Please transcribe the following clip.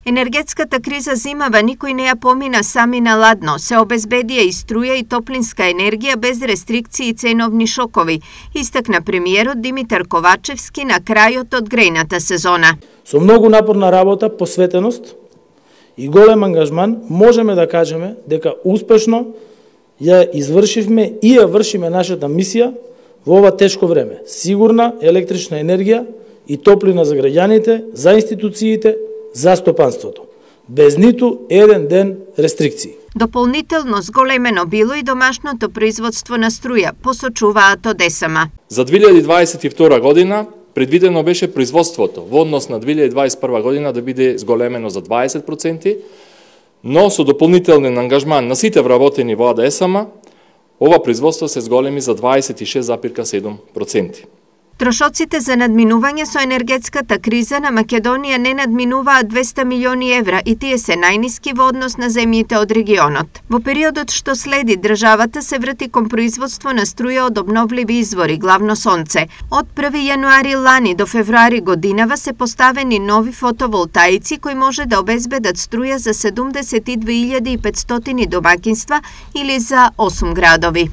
Енергетската криза зимава никој не ја помина сами на ладно, се обезбедија и струја и топлинска енергија без рестрикции и ценовни шокови, истакна премиерот Димитар Ковачевски на крајот од грејната сезона. Со многу напорна работа, посветеност и голем ангажман можеме да кажеме дека успешно ја извршивме и ја вршиме нашата мисија во ова тешко време. Сигурна електрична енергија и топлина за граѓаните, за институциите, за стопанството, без ниту еден ден рестрикции. Дополнително зголемено било и домашното производство на струја, посочуваат од ЕСМ. За 2022 година предвидено беше производството во однос на 2021 година да биде зголемено за 20%, но со дополнителен ангажман на сите вработени во ЕСМ, ова производство се зголеми за 26,7%. Трошоците за надминување со енергетската криза на Македонија не надминуваат 200 милиони евра и тие се најниски во однос на земјите од регионот. Во периодот што следи, државата се врати кон производство на струја од обновливи извори, главно сонце. Од 1 јануари лани до февруари годинава се поставени нови фотоволтаици кои може да обезбедат струја за 72.500 домаќинства или за 8 градови.